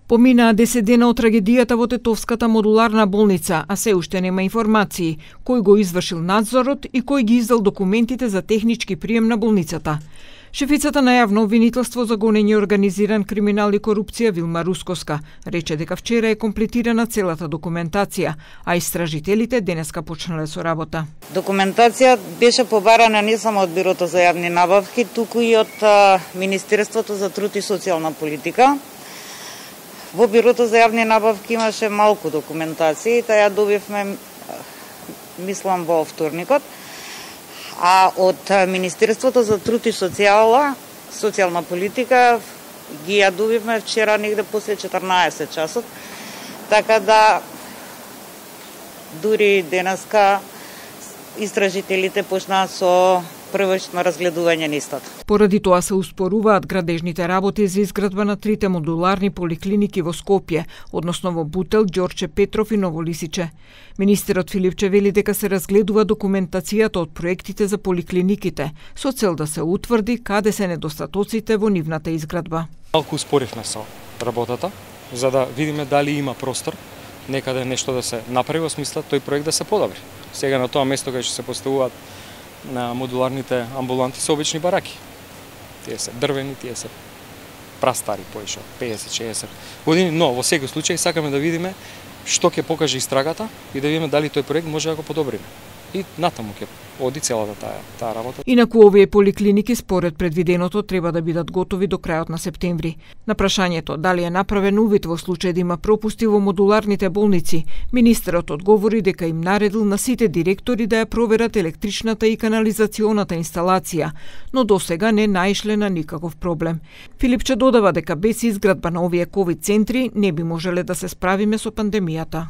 Поминаа 10 дена од трагедијата во Тетовската модуларна болница, а се уште нема информации кој го извршил надзорот и кој ги издал документите за технички прием на болницата. Шефицата на јавно обвинителство за гонење организиран криминал и корупција Вилма Рускоска рече дека вчера е комплетирана целата документација, а истражителите денеска почнале со работа. Документација беше побарана не само од Бирото за јавни набавки, туку и од Министерството за труд и социјална политика. Во Бирото за јавни набавки имаше малку документација и таа ја добивме, мислам, во вторникот. А од Министерството за труд и социјална политика ги ја добивме вчера негде после 14 часот, така да дури денеска истражителите почнаа со првично разгледување на истото. Поради тоа се успоруваат градежните работи за изградба на 3 модуларни поликлиники во Скопје, односно во Бутел, Ѓорче Петров и Ново Лисиче. Министерот Филипче вели дека се разгледува документацијата од проектите за поликлиниките, со цел да се утврди каде се недостатоците во нивната изградба. Малку успоривме со работата, за да видиме дали има простор некаде нешто да се направи во смисла тој проект да се подобри. Сега на тоа место кај што се поставуваат на модуларните амбуланти се обични бараки. Тие се дрвени, тие се прастари, поише 50-60 години, но во секој случај сакаме да видиме што ќе покаже истрагата и да видиме дали тој проект може да го подобриме. И натаму ќе оди целата таа работа. Инаку овие поликлиники според предвиденото треба да бидат готови до крајот на септември. На прашањето дали е направен увид во случај да има пропусти во модуларните болници, министерот одговори дека им наредил на сите директори да ја проверат електричната и канализационата инсталација, но досега не наишле на никаков проблем. Филипче додава дека без изградба на овие ковид центри не би можеле да се справиме со пандемијата.